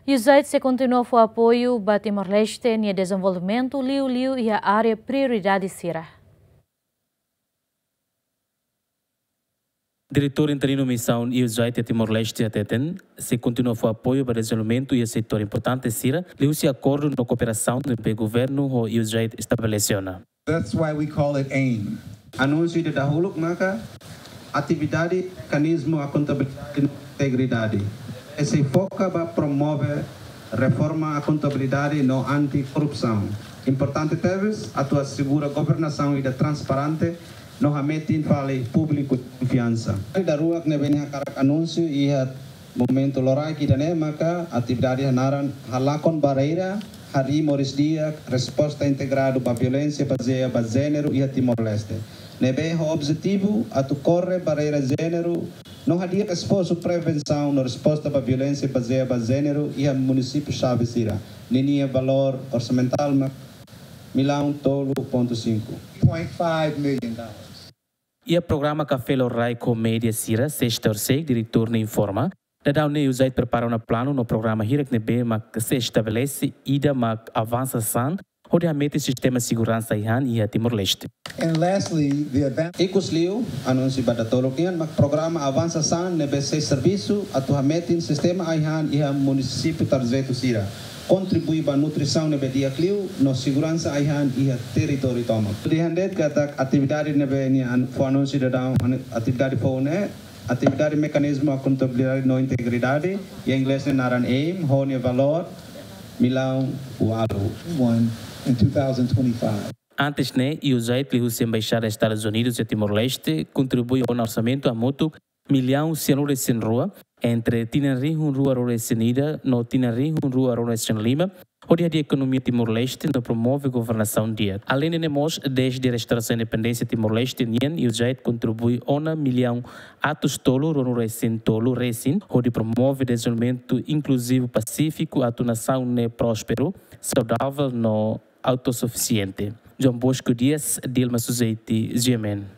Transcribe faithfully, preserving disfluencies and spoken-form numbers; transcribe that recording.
USAID sei kontinua fó apoiu ba Timor-Leste nia dezenvolvimentu liuliu iha área prioridade sira. Diretór Interinu Misaun USAID iha Timor-Leste hateten, sei kontinua fó apoiu ba dezenvolvimentu iha setór importante sira, liuhusi akordu no kooperasaun ne'ebé governu ho USAID estabelese ona. That's why we call it AIM. Anúnsiu ida dahuluk maka atividade mekanizmu akontabilidade no integridade. Sei foka ba promove reforma akontabilidade no anti-korrupsaun. Importante tebes atu asegura governasaun ida transparente no hametin fali públiku konfiansa. Daruak ne'ebé nia hakarak anúnsiu iha momentu loraik ida-ne'e maka atividade hanaran halakon barreira, harii moris di'ak, resposta integradu ba violénsia bazeia ba jéneru iha Timor-Leste. Ne'ebé ho objetivu atu kore barreira jéneru no hadi'a esforsu prevensaun no resposta ba violénsia bazeia ba jéneru iha munisípiu xave sira. Ninia valór orsamentál mak millaun tolu pontu sinku. Point five million dollars. Iha programa Café Lorraik ho média sira, sesta loron, diretór ne'e informa, daudaun ne'e USAID prepara ona planu no programa hirak ne'ebé mak sei estabelese, ida mak Avansa San, hodi hametin sistema seguransa ai-han iha Timor-Leste. And lastly, the event. Ikusliu, anúnsiu ba datoluk nian mak programa Avansa San ne'ebé sei servisu atu hametin sistema ai-han iha munisípiu tarjetu sira, kontribui ba nutrisaun ne'ebé di'ak liu no seguransa ai-han iha territóriu tomak. Dehan de'it katak atividade ne'ebé nia an-, fó anúnsiu daudaun, atividade foun ne'e, atividade mekanizmu akontabilidade no integridade, iha inglés ne'e naran AIM, ho nia valór millaun ualu. One in two thousand twenty-five. Antes ne'e, USAID liuhusi Embaixada Estadus Unidus iha Timor-Leste kontribui ona orsamentu hamutuk millaun sianulu-resin-rua entre tinan rihun rua ruanulu-resin-ida no tinan rihun rua ruanulu-resin-lima, hodi hadi'a ekonomia Timor-Leste no promove governasaun di'ak. Aleinde ne'e mós, dezde restaurasaun independénsia Timor-Leste nian, USAID kontribui ona millaun atus tolu ruanulu-resin-tolu resin, hodi promove dezenvolvimentu inkluzivu pasífiku atu nasaun ne'e prósperu, saudavel no autosufisiente. João Bosco Dias, Dilma Suzeti, GMN.